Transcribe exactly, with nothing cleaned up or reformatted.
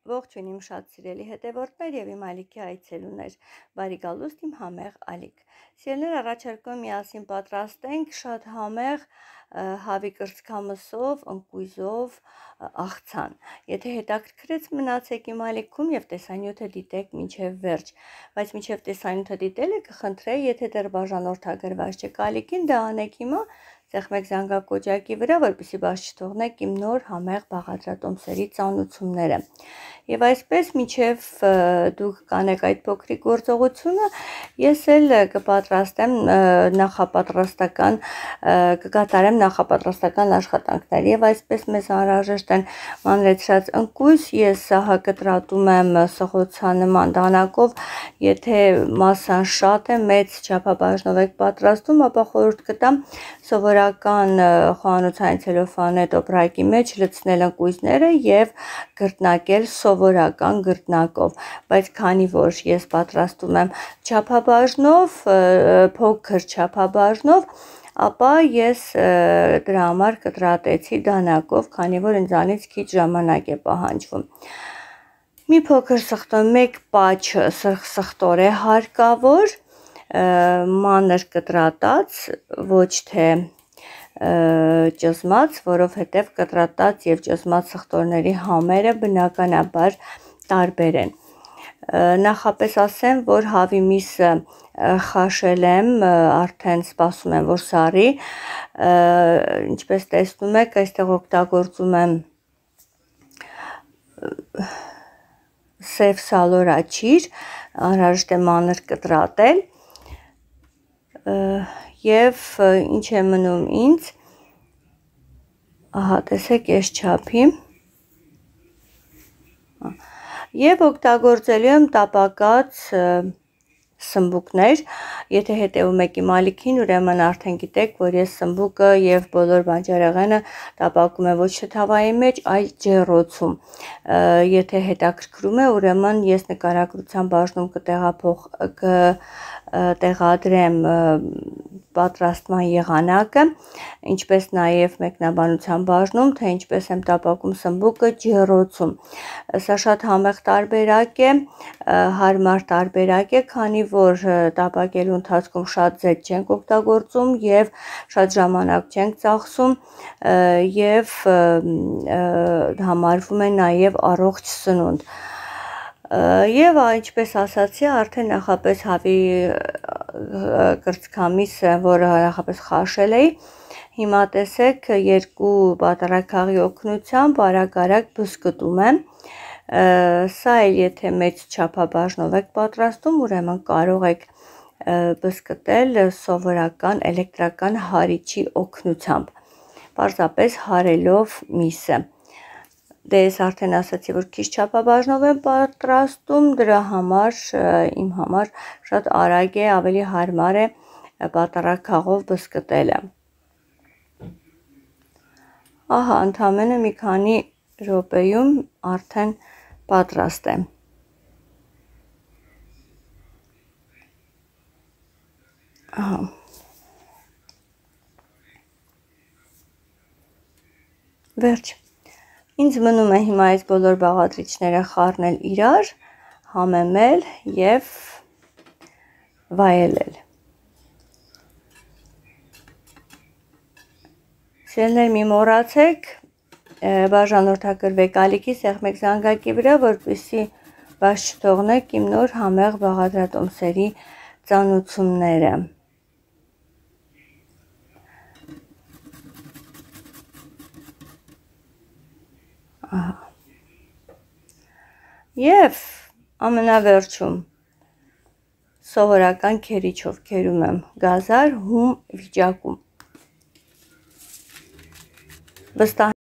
Ողջույն իմ շատ սիրելի հետևորդներ եւ իմ ալիքի այցելուներ, բարի գալուստ իմ համեղ ալիք։ Սիրելիներ, առաջարկում եմ միասին պատրաստենք շատ համեղ հավի կրծքամսով, ընկույզով աղցան։ Եթե հետաքրքրեց, մնացեք իմ ալիքում եւ տեսանյութը դիտեք մինչեւ վերջ, բայց մինչեւ տեսանյութը դիտելը կխնդրեի, եթե դեռ բաժանորդագրված չեք ալիքին, դա անեք հիմա, ծեղմեք զանգակոճակի վրա, որպեսզի բաց չթողնեք իմ նոր համեղ բաղադրատոմսերի ծանոթությունները։ Եվ այսպես մինչև դուք կանեք այդ փոքրիկ գործողությունը, ես էլ կպատրաստեմ նախապատրաստական կկատարեմ նախապատրաստական աշխատանքներ եւ այսպես մեզ անհրաժեշտ են մանրեցրած ընկույզ, ես սահա կտրատում եմ սղոցանման դանակով, եթե մասսան շատ է, մեծ չափաբաժնով եք պատրաստում, ապա խորհուրդ կտամ սովորական խոհանոցային ցելոֆանի տոպրակի մեջ լցնել ընկույզները եւ գրտնակել սովորական գրտնակով, բայց քանի որ ես պատրաստում եմ չափաբաժնով, փոքր չափաբաժնով, ապա ես դրա համար կտրատեցի դանակով, քանի որ ինձանից քիչ ժամանակ է պահանջվում։ Մի փոքր սխտո, մեկ պաչը սխտոր է հարկավոր, մանր կտրատած, ոչ թե ճզմած, որովհետև կտրատած եւ ճզմած սխտորների համերը բնականաբար տարբեր են։ Նախապես ասեմ, որ հավի միսը խաշել եմ, արդեն սպասում եմ, որ սառի, ինչպես տեսնում եք, այստեղ օգտագործում եմ սև սալորաչիր, անհրաժեշտ է մանր կտրատել եւ ինչ է մնում ինձ, ահա տեսեք այս չափի, եւ օգտագործելու եմ տապակած սմբուկներ, եթե հետևում եք իմ ալիքին, ուրեմն արդեն գիտեք, որ ես սմբուկը եւ բոլոր բանջարեղենը տապակում եմ ոչ թե թավայի մեջ, այլ ջեռոցում։ Եթե հետաքրքրում է, ուրեմն ես նկարագրության բաժնում կտեղափոխ կտեղադրեմ պատրաստման եղանակը, ինչպես նաև մեկնաբանության բաժնում, թե ինչպես եմ տապակում սմբուկը ջեռոցում։ Սա շատ համեղ տարբերակ է, հարմար տարբերակ է, քանի որ տապակելու ընթացքում շատ ձետ չենք օգտագործում եւ շատ ժամանակ չենք ծախսում եւ համարվում է նաև առողջ սնունդ։ Եվ ինչպես ասացի, արդեն նախապես հավի կրծքամիսը, որը նախապես խաշել էի, հիմա տեսեք երկու պատառաքաղի օգնությամբ արագ-արագ բզկտում եմ։ Սա էլ եթե մեծ չափաբաժնով եք պատրաստում, ուրեմն կարող եք բզկտել սովորական էլեկտրական հարիչի օգնությամբ, պարզապես հարելով միսը։ Դե ես արդեն ասացի, որ քիչ չափաբաժնով եմ պատրաստում, դրա համար իմ համար շատ արագ է, ավելի հարմար է պատառաքաղով բզկտելը։ Ահա, ընդամենը մի քանի րոպեում արդեն պատրաստ է։ Ահա։ Վերջ։ Ինձ մնում է հիմա այս բոլոր բաղադրիչները խառնել իրար, համեմել եւ վայելել։ Սիրելիներ, մի մոռացեք բաժանորդագրվեք ալիքի, սեղմեք զանգակի վրա, որպեսզի բաց չթողնեք իմ նոր համեղ բաղադրատոմսերի ծանոթությունները։ Եվ ամենավերջում սովորական քերիչով քերում եմ գազար հում վիճակում։ Վստահ